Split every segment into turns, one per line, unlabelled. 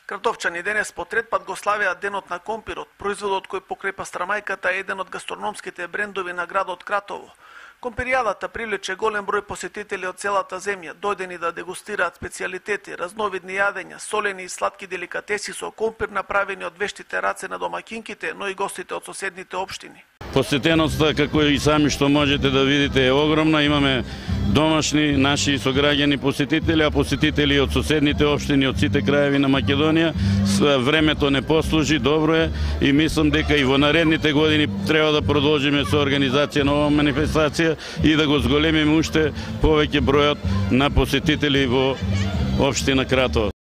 Кратовчани денес по трет пат го славеа денот на компирот, производот кој покрај пастрамајката е еден од гастрономските брендови на градот Кратово. Компиријадата привлече голем број посетители од целата земја, дојдени да дегустираат специјалитети, разновидни јадења, солени и сладки деликатеси со компир направени од вештите раце на домаќинките, но и гостите од соседните општини.
Посетеноста, како и сами што можете да видите, е огромна. Имаме домашни, наши сограѓани посетители, а посетители од соседните општини, од сите краеви на Македонија. Времето не послужи, добро е и мислам дека и во наредните години треба да продолжиме со организација на оваа манифестација и да го зголемиме уште повеќе бројот на посетители во општина Кратово.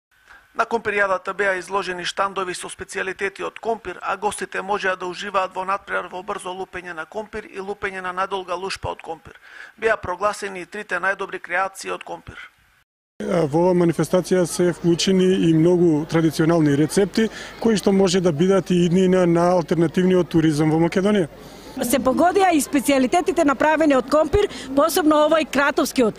На компиријадата беа изложени штандови со специјалитети од компир, а гостите можеа да уживаат во надпревар во брзо лупење на компир и лупење на надолга лушпа од компир. Беа прогласени и трите најдобри креации од компир.
Во оваа манифестација се вклучени и многу традиционални рецепти кои што може да бидат и иднина на алтернативниот туризам во Македонија.
Се погодија и специјалитетите направени од компир, посебно овој кратовскиот.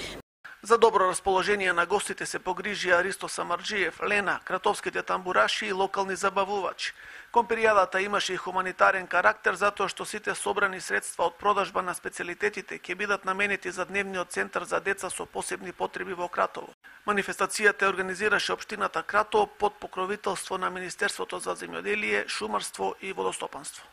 За добро расположение на гостите се погрижија Ристо Самарджиев, Лена, кратовските тамбураши и локални забавувачи. Компиријадата имаше и хуманитарен карактер затоа што сите собрани средства од продажба на специјалитетите ќе бидат наменети за дневниот центар за деца со посебни потреби во Кратово. Манифестацијата организираше општината Кратово под покровителство на Министерството за земјоделие, шумарство и водостопанство.